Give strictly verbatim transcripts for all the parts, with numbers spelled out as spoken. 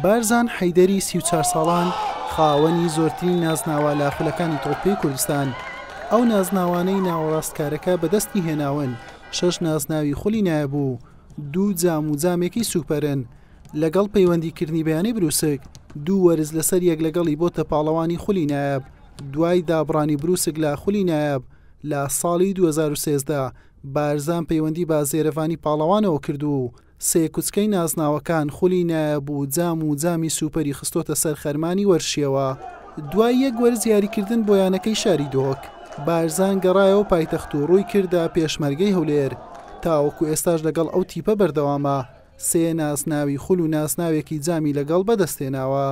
بارزان حەیدەری سی و چوار ساڵان خاوەنی زۆرترین نازناوە لە خولەکانی تۆپی کوردستان. ئەو نازناوانەی ناوەڕاستکارەکە بەدەستی هێناون شەش نازناوی خولی نایاب و دوو جام و جامێکی سوپەرن. لەگەڵ پەیوەندیکردنی بە یانەی بروسک دوو وەرز لەسەر یەک لەگەڵی بۆتە پاڵەوانی خولی نایاب. دوای دابڕانی بروسک لە خولی نایاب لە ساڵی دوو هەزار و سێزدە بارزان پەیوەندی بە زێرەڤانی پاڵەوانەوە کرد و سێ کوچکەی نازناوەکان خولی نایاب و جام و جامی سوپەری خستۆتە سەر خەرمانی وەرشیەوە. دوای یەک وەرز یاریکردن بۆ یانەکەی شاری دهۆک، بارزان گەڕایەوە پایتەخت و ڕووی کردە پێشمەرگەی هەولێر. تاوەکو ئێستاش لەگەڵ ئەو تیپە بەردەوامە، سێ نازناوی خول و نازناوێکی جامی لەگەڵ بەدەستێناوە.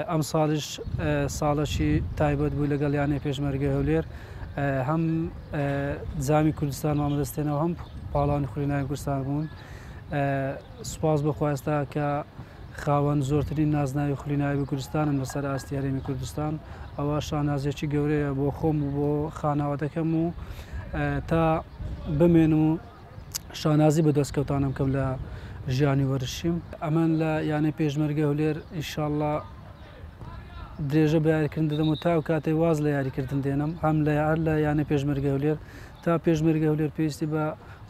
ئەم ساڵیش ساڵەکی تایبەت بوو لەگەڵ یانەی پێشمەرگەی هەولێر، هەم جامی کوردستانمان بەدەستێنەوە هەم پاڵەوانی خولی نایابی کوردستان بوون. سوپاس بۆ خوا ئێستا کە خاوەن زۆرترین نازناوی خولی نایابی کوردستانم لەسەر ئاستی هەرێمی کوردستان. ئەوە شانازیەکی گەورەیە بۆ خۆم و بۆ خانەوادەکەم و تا بمێن و شانازی بە دەستکەوتانم کەم لە ژیانی وەرزشیم. ئەمن لە یانەی پێشمەرگە هەولێر ئینشاءڵڵا درێژە بە یاریکردن دەدەم و تا ئەو کاتەی واز لە یاریکردن دێنم، هەم لە هەر لە یانەی پێشمەرگە هەولێر تا پێشمەرگە هەولێر پێویستی بە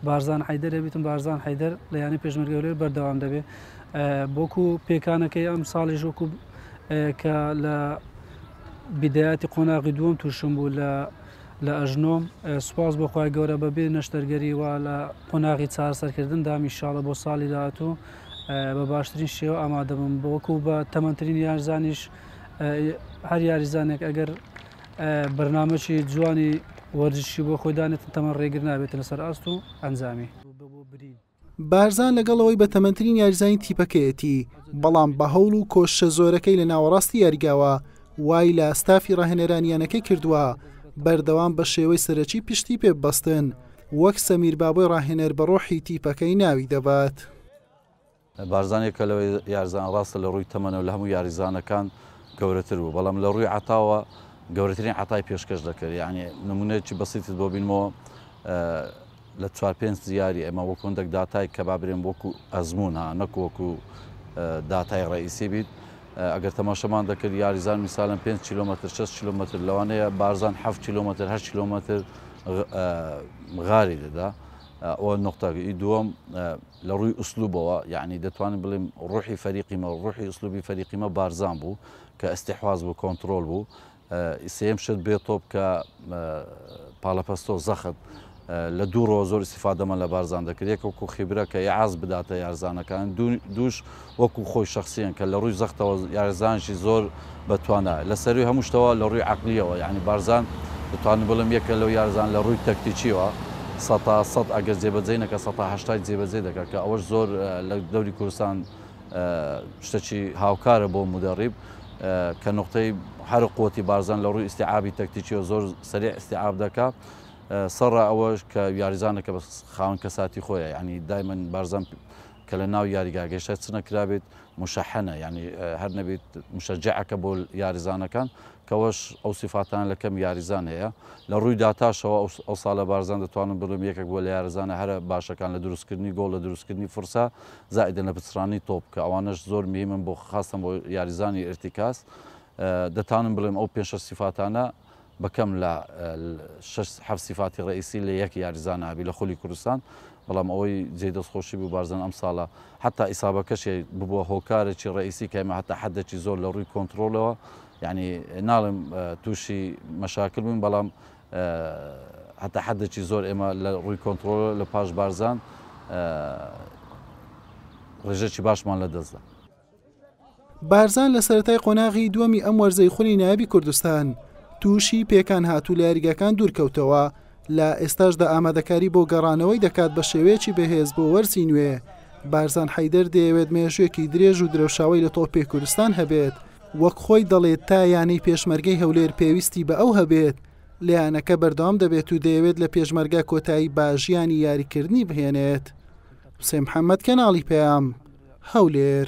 بارزان حەیدەر ئەبیتم، بارزان حەیدەر لە یانەی پێشمەرگە هەولێر بەردەوام دەبێت. بۆکو پێکانەکەی ئەم ساڵیش وەکو کە لە بیدایەتی قۆناغی دووەم تووشم بوو لە لە ئەژنۆم، سوپاس بۆ خوای گەورە بەبێ نەشتەرگەری و لە قۆناغی چارەسەرکردندام ئینشاڵڵا بۆ ساڵی داهاتوو بە باشترین شێوە ئامادە بم. وەکو بە تەمەنترین یاریزانیش هەر یاریزانێک ئەگەر بەرنامەکی جوانی وەرزشی بۆ خۆی دانێتن تەمەن ڕێگر نابێتن لەسەر ئاست و ئەنجامی. بارزان لەگەڵەوەی بە تەمەنترین یاریزانی تیپەکەیەتی، بەڵام بە هەوڵ و کۆششە زۆرەکەی لە ناوەڕاستی یاریگاوە وای لە ستافی ڕاهێنەرانی یانەکەی کردووە بەردەوام بە شێوەی سەرەکی پشتی پێ ببەستن، وەک سەمیر بابۆی ڕاهێنەر بە ڕۆحی تیپەکەی ناوی دەبات. بارزانێک کە لەوەی یاریزان ڕاستە لە ڕووی تەمەنەوە لە هەموو یاریزانەکان گەورەتر بوو، بەڵام لە ڕووی عەتاوە گەورەترین عەتای پێشکەش دەکرد. یعنی نمونەیەکی بەسیتت بۆ بینمەوە لە چوار پێنج یاری ئێمە وەکو هەندێک داتای کە با برێن وەکو ئەزموون ها نەکو وەکو داتای ڕئیسی بیت. ئەگەر تەماشەمان دەکرد یاریزان میساڵەن پێنج کیلۆمەتر شەش کیلۆمەتر لەوانەیە بارزان حەفت کیلۆمەتر هەشت کیلۆمەتر غاری دەدا. ئەوە نقطەی دووەم لە ڕووی ئوسلوبەوە، یعنی دەتوانین بڵێم ڕوحی فەریقیمە ڕوحی ئوسلوبی فەریقیمە بارزان بوو کە ئەستیحواز بوو کۆنترۆل بوو. سێم شت بێ تۆپ کە پاڵەپەستۆ زەخت لە دوو ڕۆ زۆر ئیسیفادەمان لە بارزان دەکرد. یەک وەکو خیبرە کە ئیعاز بداتە یارزانەکان، دووش وەکو خۆی شخصیان کە لە ڕووی زەختەوە یارزانشی زۆر بەتوانە لە سەروی هەموو شتەوە لە ڕووی عەقلیەوە. یعنی بارزان دەتوانم بڵێم یەکە لەو یارزان لە ڕووی تەکتیکیەوە سەتا سەد ئەگەر جێبەجێ نەکە سەتا هەشتای جێبەجێ دەکات کە ئەوەش زۆر لە دەوری کوردستان شتێکی هاوکارە بۆ مدەڕیب کە نقطەی هەر قوتی بارزان لە ڕووی ئیستیعابی تەکتیکیەوە زۆر سەریع ئیستیعاب دەکات. سەرڕا ئەوەش کە یاریزانەکە بە خاوەن کەساتی خۆیە، یعنی دایمەن بارزان کە لە ناو یاریگا گەشتە چ نەکرابێت مشەحەنە، یعنی هەر نەبێت مشەجعەکە بۆ یاریزانەکان کەوەش ئەو سیفاتان لە کەم یاریزان هەیە. لە ڕووی داتاشەوە ئەو ساڵە بارزان دەتوانم بڵێم یەکێک بووە لە یاریزانە هەرە باشەکان لە دروستکردنی گۆڵ لە دروستکردنی فرسە زائیدە لە پچڕانی تۆپ کە ئەوانەش زۆر مهمن بۆ خاستن بۆ یاریزانی ئرتیکاز. دەتوانم بڵێم ئەو پێنج شەش سیفاتانە بەکەم لە شەش حەفت سیفاتی ڕئیسی لە یەک یاریزان هەبی لە خولی کوردستان. بەڵام ئەوەی جێ دەستخۆشی بوو بارزان ئەم ساڵە حتا ئیسابەکەشی ببووە هۆکارێکی ڕئیسی کە ئێمە حتا حدێکی زۆر لە ڕووی کۆنترۆڵەوە، یعنی ناڵێم تووشی مەشاکل بووین، بەڵام حتا حدێکی زۆر ئێمە لە ڕووی کۆنترۆڵ لە پاش بارزان ڕێژەکی باشمان لەدەستدا. بارزان لە سەرەتای قۆناغی دووەمی ئەم وەرزەی خولی نایابی کوردستان تووشی پێکان هاتوو لە یاریگاکان دوورکەوتەوە. لە ئێستاشدا ئامادەکاری بۆ گەڕانەوەی دەکات بە شێوەیەکی بەهێز بۆ وەرزی نوێ. بارزان حەیدەر دەیەوێت مێژوویەکی درێژ و درەوشاوەی لە تۆپی کوردستان هەبێت، وەک خۆی دەڵێت تا یانەی پێشمەرگەی هەولێر پێویستی بە ئەو هەبێت لە یانەکە بەردەوام دەبێت و دەیەوێت لە پێشمەرگە کۆتایی بە ژیانی یاریکردنی بهێنێت. حوسێن محەممەد، کەناڵی پەیام، هەولێر.